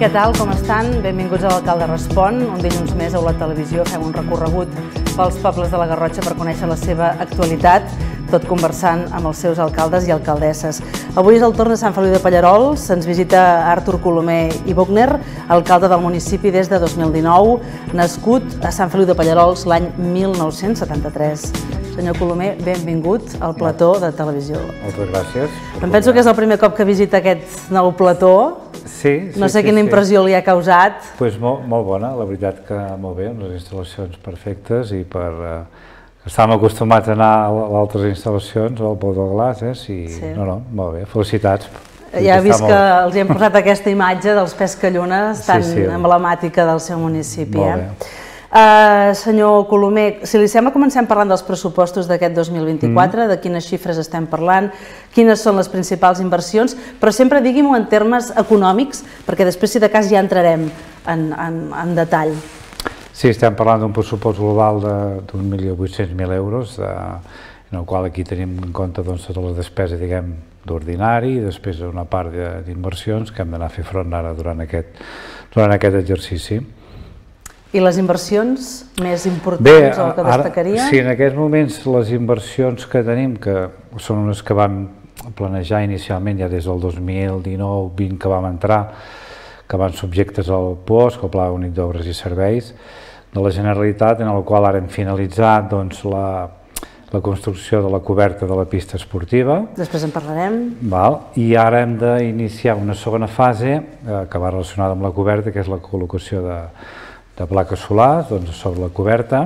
Què tal, com estan? Benvinguts a l'Alcalde Respon. Un dilluns més a la televisió fem un recorregut pels pobles de la Garrotxa per conèixer la seva actualitat, tot conversant amb els seus alcaldes i alcaldesses. Avui és el torn de Sant Feliu de Pallerols, ens visita Artur Colomer i Buchner, alcalde del municipi des de 2019, nascut a Sant Feliu de Pallerols l'any 1973. Senyor Colomer, benvingut al plató de televisió. Moltes gràcies. Em penso que és el primer cop que visita aquest nou plató. Sí. No sé quina impressió li ha causat. Doncs molt bona, la veritat que molt bé, amb les instal·lacions perfectes i per... Estàvem acostumats a anar a altres instal·lacions, al Pou del Glaç, no, molt bé, felicitats. Ja he vist que els hi hem posat aquesta imatge dels pescallunes tan emblemàtica del seu municipi. Molt bé. Senyor Colomer, si li sembla, comencem parlant dels pressupostos d'aquest 2024, de quines xifres estem parlant, quines són les principals inversions, però sempre digui'm-ho en termes econòmics, perquè després, si de cas, ja entrarem en detall. Sí, estem parlant d'un pressupost global d'1.800.000 euros, en el qual aquí tenim en compte totes les despeses, diguem, d'ordinari i després una part d'inversions que hem d'anar a fer front ara durant aquest exercici. I les inversions més importants o que destacaria? Sí, en aquests moments les inversions que tenim, que són unes que vam planejar inicialment ja des del 2019-20 que vam entrar, que van subjectes al POSC, el Pla Únic d'Obres i Serveis de la Generalitat, en el qual ara hem finalitzat la construcció de la coberta de la pista esportiva. Després en parlarem. I ara hem d'iniciar una segona fase que va relacionada amb la coberta, que és la col·locació de plaques solars sobre la coberta,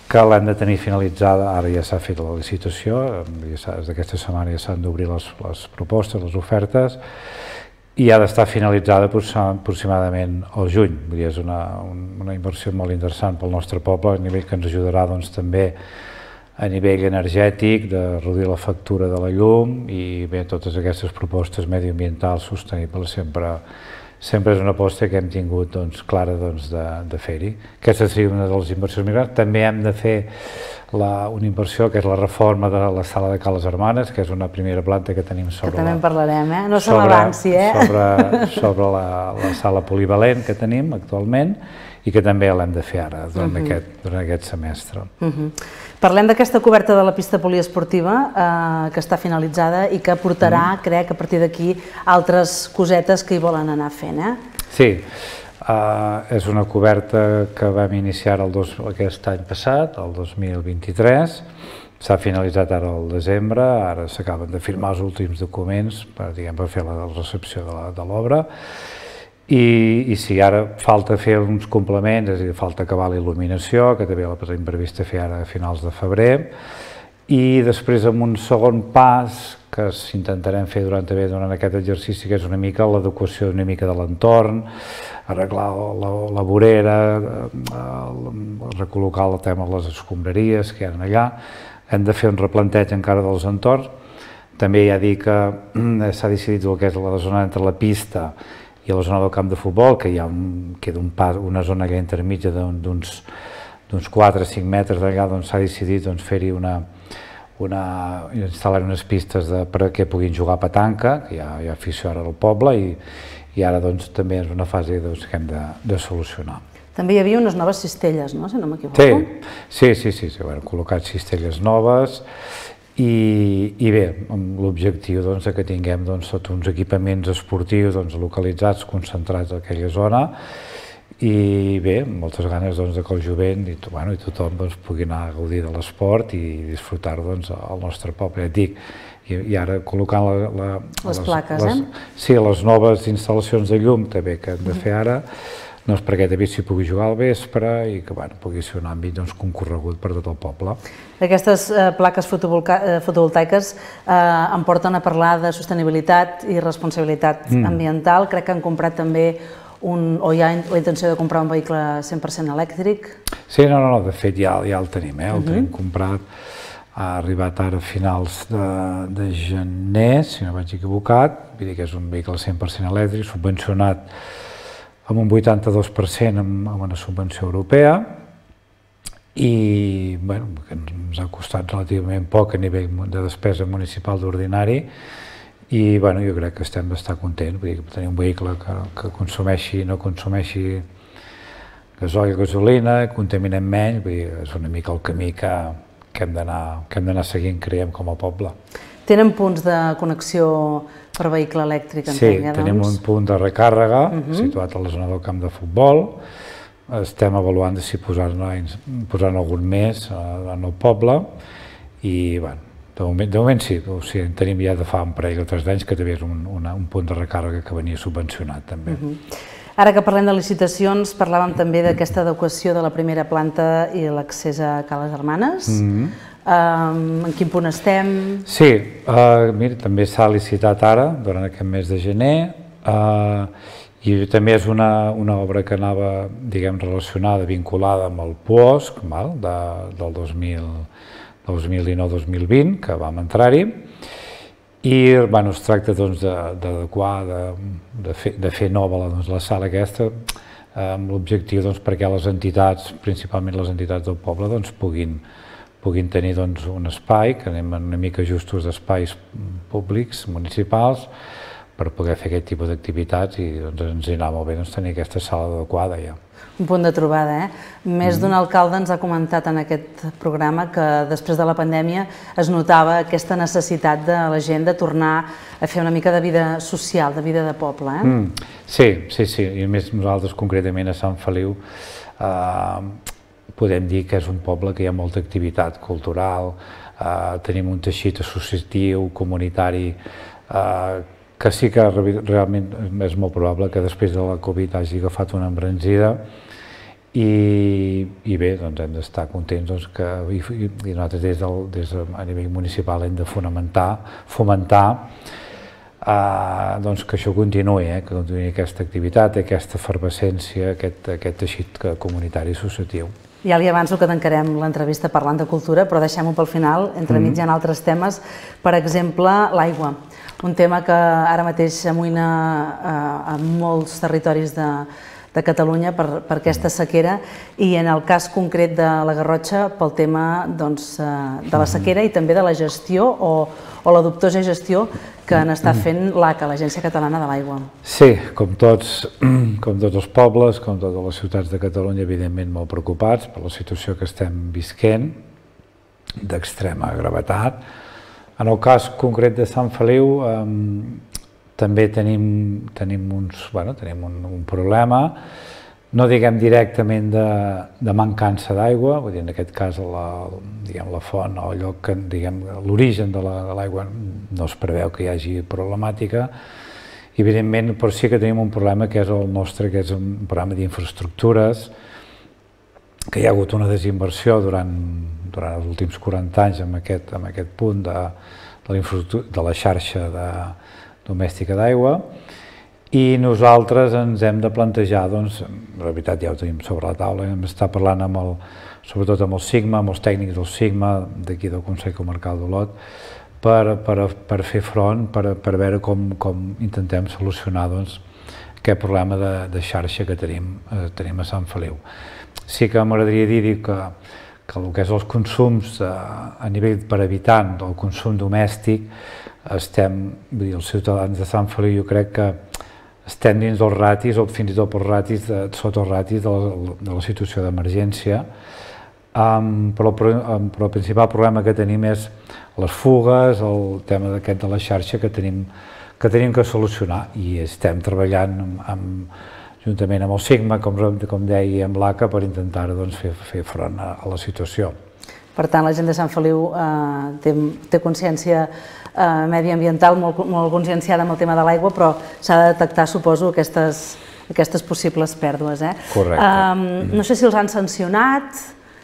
que l'hem de tenir finalitzada. Ara ja s'ha fet la licitació, des d'aquesta setmana ja s'han d'obrir les propostes, les ofertes, i ha d'estar finalitzada aproximadament al juny. És una inversió molt interessant pel nostre poble, a nivell que ens ajudarà també a nivell energètic, de reduir la factura de la llum i bé, totes aquestes propostes mediambientals sostenibles sempre és una aposta que hem tingut clara de fer-hi. Aquesta seria una de les inversions més grans. També hem de fer una inversió que és la reforma de la sala de Ca les Hermanes, que és una primera planta que tenim sobre... Que també en parlarem, no se m'avanci, sobre la sala polivalent que tenim actualment i que també l'hem de fer ara, durant aquest semestre. Parlem d'aquesta coberta de la pista poliesportiva que està finalitzada i que portarà, crec, a partir d'aquí, altres cosetes que hi volen anar fent. Sí, és una coberta que vam iniciar aquest any passat, el 2023, s'ha finalitzat ara al desembre, ara s'acaben de firmar els últims documents per fer la recepció de l'obra. I sí, ara falta fer uns complements, és a dir, falta acabar la il·luminació, que també la tenim prevista fer ara a finals de febrer, i després amb un segon pas que intentarem fer durant aquest exercici, que és una mica l'adequació una mica de l'entorn, arreglar la vorera, recol·locar el tema de les escombraries que hi ha allà, hem de fer un replanteig encara dels entorns. També ja dic que s'ha decidit el que és la zona entre la pista i a la zona del camp de futbol, que hi ha una zona intermitja d'uns 4 o 5 metres d'allà, s'ha decidit fer-hi instal·lar unes pistes perquè puguin jugar a petanca, que hi ha afició ara al poble, i ara també és una fase que hem de solucionar. També hi havia unes noves cistelles, no?, si no m'equivoco. Sí, hem col·locat cistelles noves, i bé, amb l'objectiu que tinguem tots uns equipaments esportius localitzats, concentrats en aquella zona, i bé, moltes ganes que el jovent i tothom pugui anar a gaudir de l'esport i disfrutar-ho al nostre poble. I ara col·locant les plaques, sí, les noves instal·lacions de llum també que hem de fer ara, perquè també s'hi pugui jugar al vespre i que pugui ser un àmbit concorregut per tot el poble. Aquestes plaques fotovoltaiques em porten a parlar de sostenibilitat i responsabilitat ambiental. Crec que han comprat també o hi ha la intenció de comprar un vehicle 100% elèctric. Sí, no, de fet ja el tenim, el tenim comprat. Ha arribat ara a finals de gener, si no vaig equivocat. Vull dir que és un vehicle 100% elèctric, subvencionat amb un 82% amb una subvenció europea, i que ens ha costat relativament poc a nivell de despesa municipal d'ordinari, i jo crec que estem bastant contents, vull dir, tenir un vehicle que consumeixi, no consumeixi gasoil, gasolina, contaminem menys, vull dir, és una mica el camí que hem d'anar seguint, creiem, com a poble. Tenen punts de connexió per vehicle elèctric, entenc, Sí, tenim un punt de recàrrega situat a la zona del camp de futbol. Estem avaluant si posar-ne algun més en el poble i, de moment sí, tenim ja de fa un parell o 3 anys que també és un punt de recàrrega que venia subvencionat també. Ara que parlem de licitacions, parlàvem també d'aquesta adequació de la primera planta i l'accés a Ca les Germanes. En quin punt estem? Sí, mira, també s'ha licitat ara, durant aquest mes de gener, i també és una obra que anava, diguem, relacionada, vinculada amb el PUOSC, del 2019-2020, que vam entrar-hi, i es tracta d'adequar, de fer nova la sala aquesta, amb l'objectiu perquè les entitats, principalment les entitats del poble, puguin tenir un espai, que anem una mica justos d'espais públics, municipals, per poder fer aquest tipus d'activitats i ens hi anava molt bé tenir aquesta sala adequada ja. Un punt de trobada, Més d'un alcalde ens ha comentat en aquest programa que després de la pandèmia es notava aquesta necessitat de la gent de tornar a fer una mica de vida social, de vida de poble, Sí, i a més nosaltres concretament a Sant Feliu podem dir que és un poble que hi ha molta activitat cultural, tenim un teixit associatiu, comunitari, que sí que realment és molt probable que després de la Covid hagi agafat una embranzida i bé, hem d'estar contents que nosaltres a nivell municipal hem de fomentar que això continuï, que continuï aquesta activitat, aquesta efervescència, aquest teixit comunitari associatiu. Ja li avanço que tancarem l'entrevista parlant de cultura, però deixem-ho pel final, entremig hi ha altres temes, per exemple, l'aigua. Un tema que ara mateix amoïna a molts territoris de Catalunya per aquesta sequera i en el cas concret de la Garrotxa pel tema de la sequera i també de la gestió o la dubtosa gestió que n'està fent l'ACA, l'Agència Catalana de l'Aigua. Sí, com tots els pobles, com totes les ciutats de Catalunya, evidentment molt preocupats per la situació que estem visquent, d'extrema gravetat. En el cas concret de Sant Feliu també tenim un problema, no diguem directament de mancança d'aigua, vull dir, en aquest cas la font o l'origen de l'aigua no es preveu que hi hagi problemàtica, evidentment, però sí que tenim un problema que és el nostre, que és un problema d'infraestructures, que hi ha hagut una desinversió durant els últims 40 anys en aquest punt de la xarxa domèstica d'aigua i nosaltres ens hem de plantejar, la veritat ja ho tenim sobre la taula, hem d'estar parlant sobretot amb el Sigma, amb els tècnics del Sigma, d'aquí del Consell Comarcal d'Olot, per fer front, per veure com intentem solucionar aquest problema de xarxa que tenim a Sant Feliu. Sí que m'agradaria dir que el que és els consums a nivell per habitant, el consum domèstic, els ciutadans de Sant Feliu jo crec que estem dins dels ratis o fins i tot sota els ratis de la situació d'emergència, però el principal problema que tenim és les fugues, el tema d'aquest de la xarxa que tenim que solucionar i estem treballant juntament amb el Sigma, com deia, amb l'ACA, per intentar fer front a la situació. Per tant, la gent de Sant Feliu té consciència mediambiental molt conscienciada amb el tema de l'aigua, però s'ha de detectar, suposo, aquestes possibles pèrdues. Correcte. No sé si els han sancionat.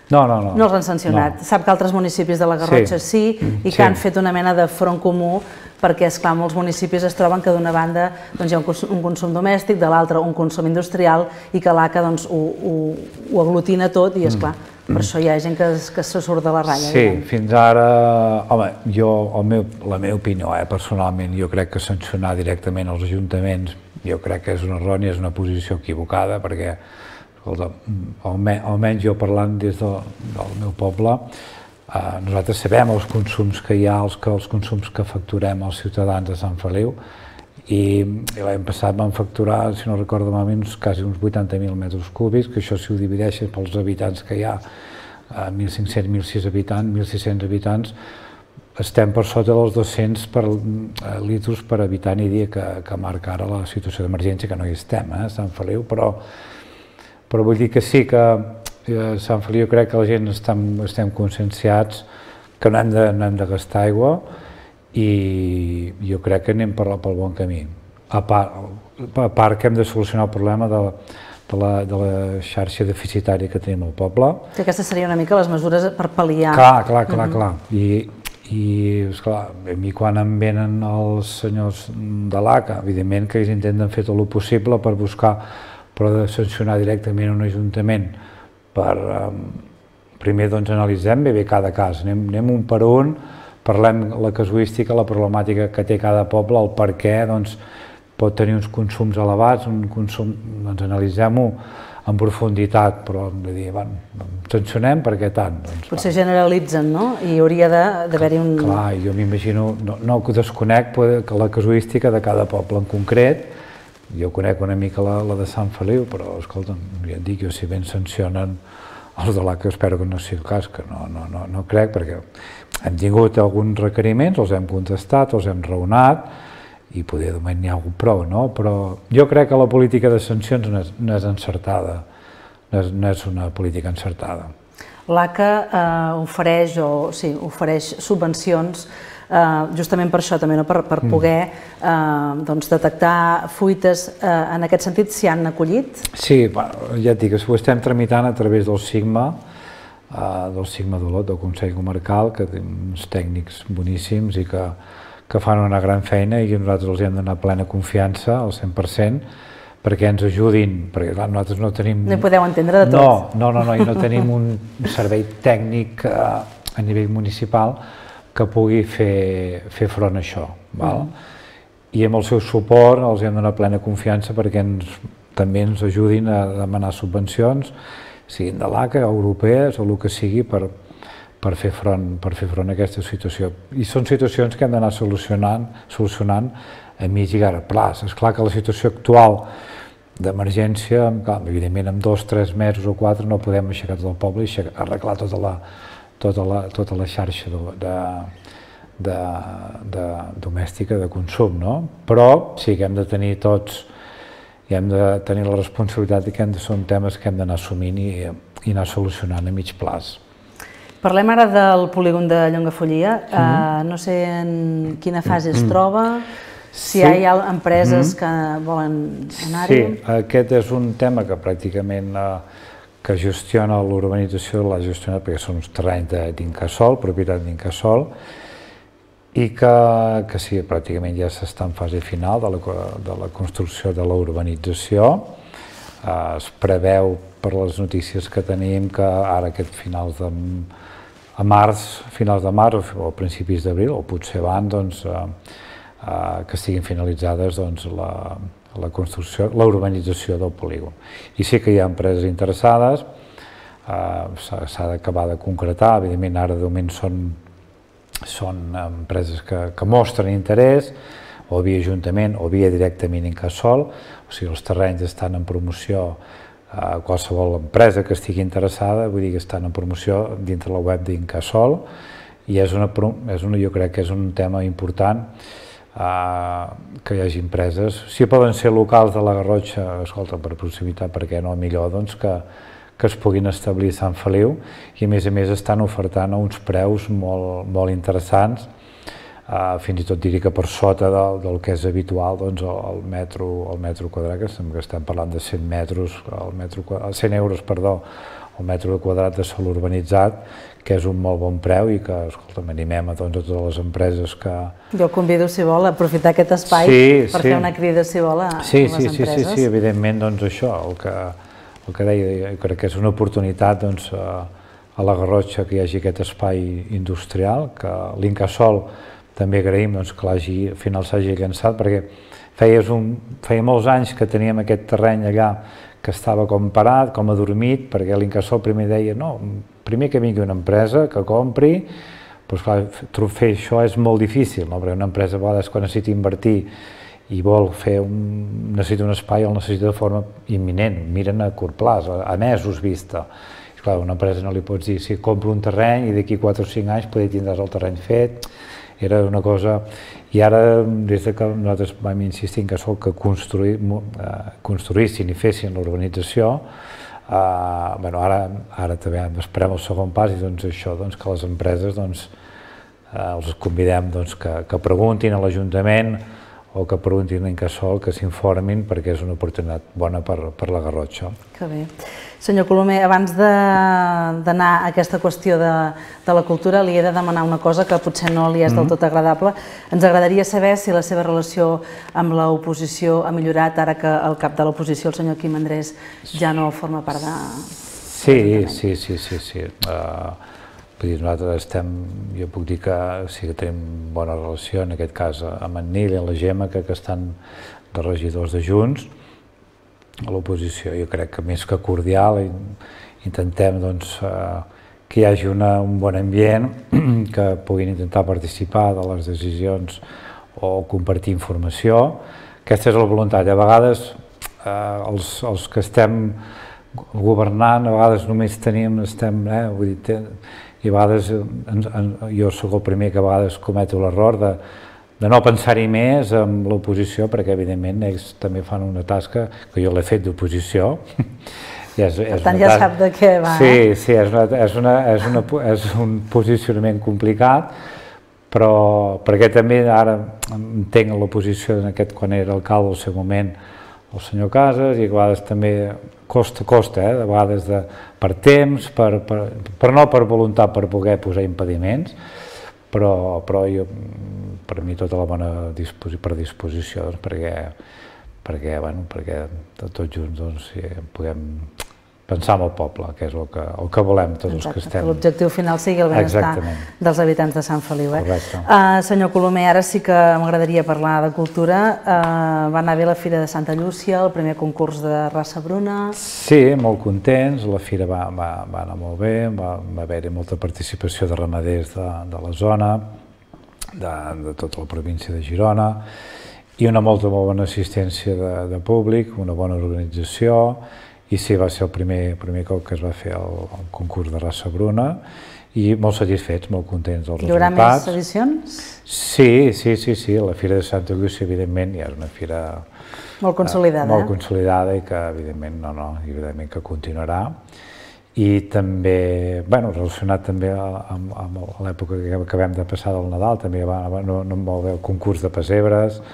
No. No els han sancionat. Sap que altres municipis de la Garrotxa sí i que han fet una mena de front comú perquè, esclar, molts municipis es troben que d'una banda hi ha un consum domèstic, de l'altra un consum industrial i que l'ACA ho aglutina tot i, esclar, per això hi ha gent que se surt de la ratlla. Sí, fins ara, home, la meva opinió, personalment, jo crec que sancionar directament els ajuntaments, jo crec que és una errònia, és una posició equivocada, perquè, escolta, almenys jo parlant des del meu poble, Nosaltres sabem els consums que hi ha, els consums que facturem als ciutadans de Sant Feliu, i l'any passat vam facturar, si no recordo malament, quasi uns 80.000 metres cúbics, que això si ho divideixes pels habitants que hi ha, 1.500, 1.600 habitants, estem per sota dels 200 litres per habitant i dia que marca ara la situació d'emergència, que no hi estem, a Sant Feliu, però vull dir que sí que a Sant Feliu crec que la gent estem conscienciats que no hem de gastar aigua, i jo crec que anem pel bon camí. A part que hem de solucionar el problema de la xarxa deficitària que tenim al poble. Aquestes serien una mica les mesures per pal·liar. Clar. I esclar, a mi quan em venen els senyors de l'ACA, evidentment que ells intenten fer tot el possible per buscar, però de sancionar directament un ajuntament primer doncs analitzem bé cada cas, anem un per un, parlem la casuística, la problemàtica que té cada poble, el per què pot tenir uns consums elevats, doncs analitzem-ho en profunditat, però sancionem perquè tant. Potser generalitzen, no? I hauria d'haver-hi un... Clar, jo m'imagino, no desconec la casuística de cada poble en concret, jo conec una mica la de Sant Feliu, però escolta'm, ja et dic, jo si ben sancionen els de l'ACA, espero que no sigui el cas, que no crec, perquè hem tingut alguns requeriments, els hem contestat, els hem raonat, i poder de moment n'hi ha hagut prou, no? Però jo crec que la política de sancions no és encertada, no és una política encertada. L'ACA ofereix subvencions justament per això també, per poder detectar fuites. En aquest sentit, s'hi han acollit? Sí, ja et dic, ho estem tramitant a través del SIGMA, d'Olot, del Consell Comarcal, que té uns tècnics boníssims i que fan una gran feina, i nosaltres els hem de donar plena confiança, al 100%, perquè ens ajudin, perquè clar, nosaltres no tenim... No hi podeu entendre de tot. No, i no tenim un servei tècnic a nivell municipal que pugui fer front a això. I amb el seu suport els hem de donar plena confiança perquè també ens ajudin a demanar subvencions, siguin de l'ACA, europees o el que sigui, per fer front a aquesta situació. I són situacions que hem d'anar solucionant a mig i llarg plaç. És clar que la situació actual d'emergència, evidentment en 2, 3 mesos o 4 no podem aixecar tot el poble i arreglar tota la xarxa domèstica de consum, no? Però sí que hem de tenir tots, i hem de tenir la responsabilitat que són temes que hem d'anar assumint i anar solucionant a mig plaç. Parlem ara del polígon de Llongafollia. No sé en quina fase es troba, si hi ha empreses que volen anar-hi. Sí, aquest és un tema que pràcticament que gestiona l'urbanització, l'ha gestionat perquè són uns terrenys d'Incasòl, propietat d'Incasòl, i que sí, pràcticament ja s'està en fase final de la construcció de la urbanització. Es preveu, per les notícies que tenim, que ara finals de març o principis d'abril, o potser abans, que estiguin finalitzades la construcció, la urbanització del polígon. I sí que hi ha empreses interessades, s'ha d'acabar de concretar, evidentment ara de moment són empreses que mostren interès, o via Ajuntament o via directament Incasòl, o sigui, els terrenys estan en promoció, qualsevol empresa que estigui interessada, vull dir que estan en promoció dintre la web d'Incasòl, i jo crec que és un tema important que hi hagi empreses. Si poden ser locals de la Garrotxa, escolta, per proximitat, perquè no, millor que es puguin establir a Sant Feliu, i a més estan ofertant a uns preus molt interessants, fins i tot diria que per sota del que és habitual el metro quadrat, que estem parlant de 100 euros el metre quadrat de sòl urbanitzat, que és un molt bon preu i que, escolta'm, animem a totes les empreses que... Jo el convido, si vol, a aprofitar aquest espai per fer una crida, si vol, a les empreses. Sí, evidentment, doncs això, el que deia, jo crec que és una oportunitat a la Garrotxa que hi hagi aquest espai industrial, que l'Incasòl també agraïm que al final s'hagi llançat, perquè feia molts anys que teníem aquest terreny allà que estava com parat, com adormit, perquè l'Incasòl primer deia no, primer que vingui una empresa, que compri, però clar, fer això és molt difícil, no? Perquè una empresa a vegades quan necessita invertir i vol necessita un espai o el necessita de forma imminent, miren a curt plaç, a mesos vista. I clar, una empresa no li pots dir, si compro un terreny i d'aquí 4 o 5 anys potser tindràs el terreny fet, era una cosa... I ara, des que nosaltres vam insistir que sol que construïssin i fessin l'urbanització, ara també esperem el segon pas i doncs això, que les empreses els convidem que preguntin a l'Ajuntament o que preguntin a Incasòl, que s'informin perquè és una oportunitat bona per la Garrotxa. Que bé. Senyor Colomer, abans d'anar a aquesta qüestió de la cultura, li he de demanar una cosa que potser no li és del tot agradable. Ens agradaria saber si la seva relació amb l'oposició ha millorat ara que el cap de l'oposició, el senyor Quim Andrés, ja no forma part de... Sí. Nosaltres jo puc dir que sí que tenim bona relació, en aquest cas amb en Nil i la Gemma, que estan de regidors de Junts. A l'oposició jo crec que més que cordial, intentem que hi hagi un bon ambient, que puguin intentar participar de les decisions o compartir informació. Aquesta és la voluntat. A vegades els que estem governant, a vegades només i a vegades jo sóc el primer que a vegades cometo l'error de no pensar-hi més amb l'oposició, perquè evidentment ells també fan una tasca que jo l'he fet d'oposició. Per tant ja sap de què va. Sí, és un posicionament complicat, però perquè també ara entenc l'oposició quan era alcalde al seu moment el senyor Casas, i a vegades també costa, de vegades per temps, no per voluntat, per poder posar impediments, però jo, per mi tota la bona predisposició, perquè tots junts puguem pensar en el poble, que és el que volem tots els que estem. Que l'objectiu final sigui el benestar dels habitants de Sant Feliu. Senyor Colomer, ara sí que m'agradaria parlar de cultura. Va anar bé la Fira de Santa Llúcia, el primer concurs de raça bruna. Sí, molt contents, la fira va anar molt bé, va haver-hi molta participació de ramaders de la zona, de tota la província de Girona, i una molt bona assistència de públic, una bona organització. I sí, va ser el primer cop que es va fer el concurs de raça bruna i molt satisfets, molt contents dels resultats. Hi haurà més edicions? Sí, la Fira de Santa Llúcia, evidentment, ja és una fira molt consolidada. Molt consolidada i que, evidentment, que continuarà. I també, relacionat també amb l'època que acabem de passar del Nadal, també va molt bé el concurs de pessebres,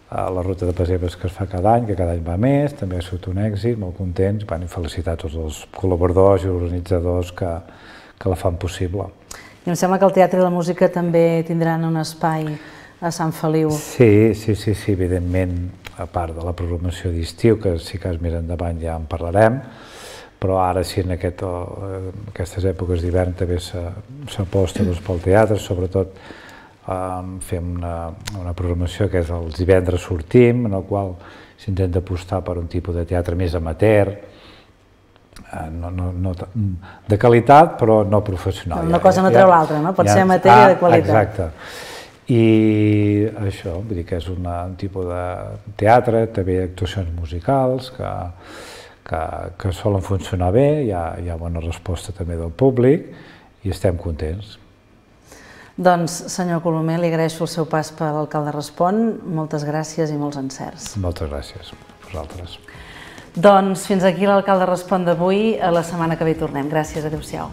la ruta de pessebres que es fa cada any, que cada any va més, també ha sigut un èxit, molt contents, i felicitar tots els col·laboradors i organitzadors que la fan possible. I em sembla que el teatre i la música també tindran un espai a Sant Feliu. Sí, evidentment, a part de la programació d'estiu, que si cas més endavant ja en parlarem, però ara sí, en aquestes èpoques d'hivern també s'aposta pel teatre, sobretot fem una programació que és els divendres sortim, en el qual s'intenta apostar per un tipus de teatre més amateur, de qualitat però no professional. Una cosa no treu l'altra, no? Pot ser amateur i de qualitat. Exacte. I això, vull dir que és un tipus de teatre, també actuacions musicals que solen funcionar bé, hi ha bona resposta també del públic i estem contents. Doncs, senyor Colomer, li agraeixo el seu pas per l'Alcalde Respon. Moltes gràcies i molts encerts. Moltes gràcies a vosaltres. Doncs fins aquí l'Alcalde Respon d'avui. A la setmana que ve hi tornem. Gràcies, adéu-siau.